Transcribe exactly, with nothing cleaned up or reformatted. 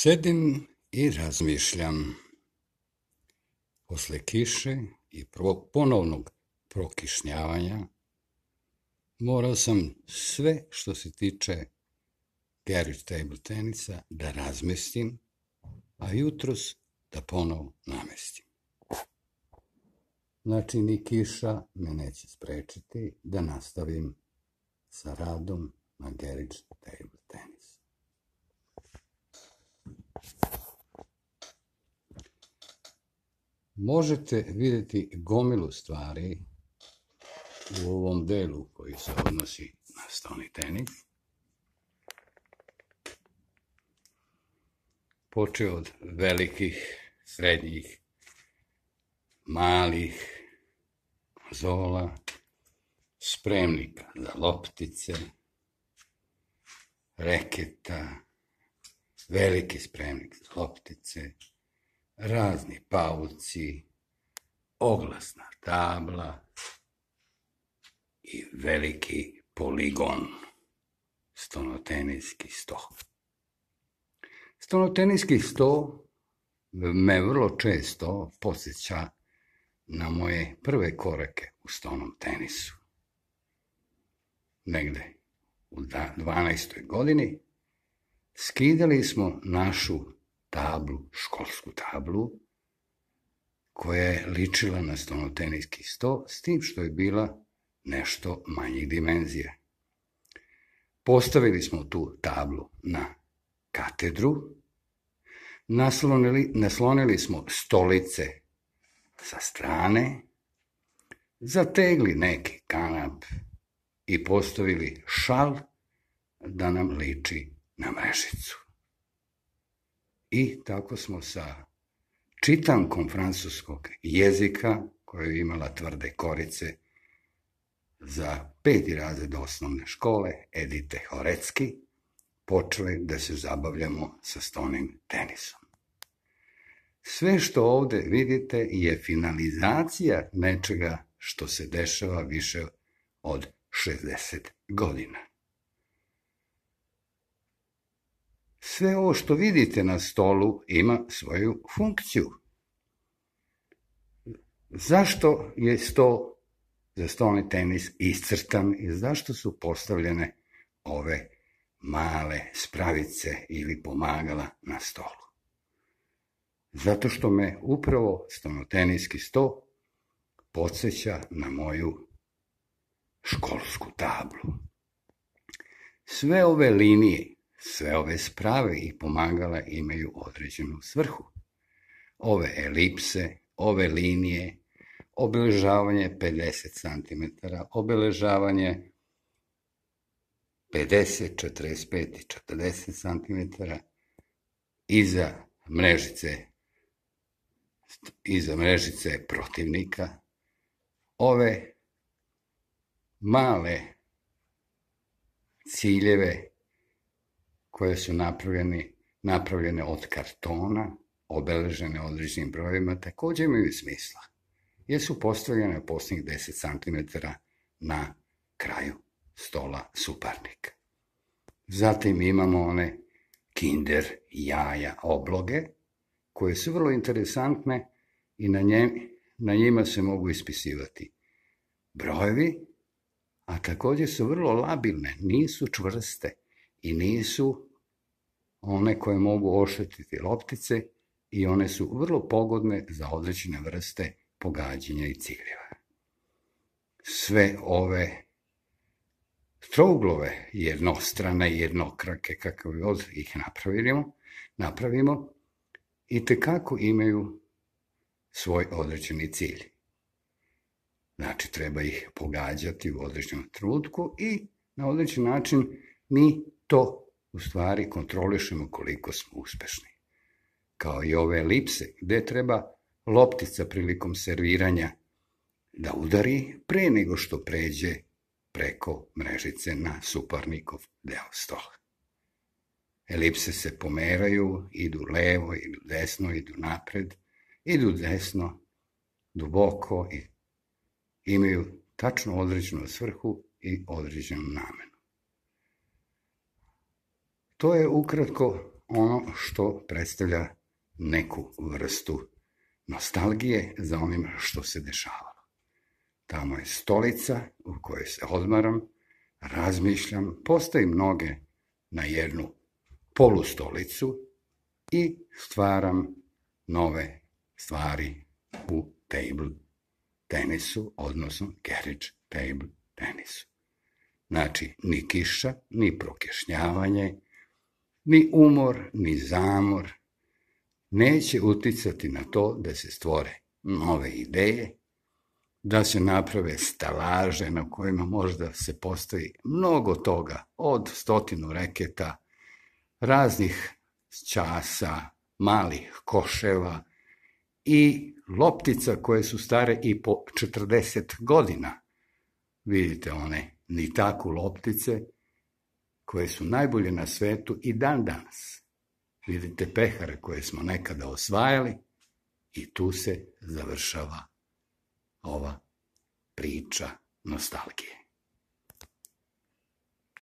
Sedim i razmišljam. Posle kiše i ponovnog prokišnjavanja morao sam sve što se tiče garage table tenisa da razmestim, a jutros da ponovo namestim. Znači, ni kiša me neće sprečiti da nastavim sa radom na garage table tenis. Možete vidjeti gomilu stvari u ovom delu koji se odnosi na stoni tenis. Počeo od velikih, srednjih, malih konzola, spremnika za loptice, reketa, veliki spremnik za loptice, razni pauci, oglasna tabla i veliki poligon, stonoteniski sto. Stonoteniski sto me vrlo često podsjeća na moje prve korake u stonom tenisu. Negde u dvanaestoj godini skidali smo našu tablu, školsku tablu, koja je ličila na stonoteniski sto, s tim što je bila nešto manjih dimenzija. Postavili smo tu tablu na katedru, naslonili, naslonili smo stolice sa strane, zategli neki kanap i postavili šal da nam liči na mrežicu. I tako smo sa čitankom francuskog jezika, koja je imala tvrde korice za peti razred osnovne škole, Edite Horecki, počeli da se zabavljamo sa stonim tenisom. Sve što ovde vidite je finalizacija nečega što se dešava više od šezdeset godina. Sve ovo što vidite na stolu ima svoju funkciju. Zašto je sto za stolni tenis iscrtan i zašto su postavljene ove male spravice ili pomagala na stolu? Zato što me upravo stonoteniski sto podsjeća na moju školsku tablu. Sve ove linije, sve ove sprave i pomagala imaju određenu svrhu. Ove elipse, ove linije, obeležavanje pedeset centimetara, obeležavanje pedeset, četrdeset pet i četrdeset centimetara, iza mrežice, iza mrežice protivnika, ove male ciljeve koje su napravljene, napravljene od kartona, obeležene određenim brojevima, takođe imaju smisla, jer su postavljene posljednjih deset centimetara na kraju stola suparnika. Zatim imamo one kinder jaja obloge, koje su vrlo interesantne i na, nje, na njima se mogu ispisivati brojevi, a takođe su vrlo labilne, nisu čvrste i nisu one koje mogu oštetiti loptice i one su vrlo pogodne za određene vrste pogađanja i ciljeva. Sve ove trouglove, jednostrane i jednokrake, kako god ih napravimo, napravimo, i tekako imaju svoj određeni cilj. Znači, treba ih pogađati u određenom trenutku i na određen način mi to u stvari kontrolišemo koliko smo uspešni. Kao i ove elipse, gde treba loptica prilikom serviranja da udari pre nego što pređe preko mrežice na suparnikov deo stola. Elipse se pomeraju, idu levo, idu desno, idu napred, idu desno, duboko i imaju tačno određenu svrhu i određenu namenu. To je ukratko ono što predstavlja neku vrstu nostalgije za onim što se dešavalo. Tamo je stolica u kojoj se odmaram, razmišljam, postavim noge na jednu polustolicu i stvaram nove stvari u table tenisu, odnosno carriage table tenisu. Znači, ni kiša, ni prokešnjavanje, ni umor, ni zamor neće uticati na to da se stvore nove ideje, da se naprave stelaže na kojima možda se postavi mnogo toga, od stotinu reketa, raznih časa, malih koševa i loptica koje su stare i po četrdeset godina. Vidite one nitaku loptice koje su najbolje na svetu i dan danas. Vidite pehare koje smo nekada osvajali i tu se završava ova priča nostalgije.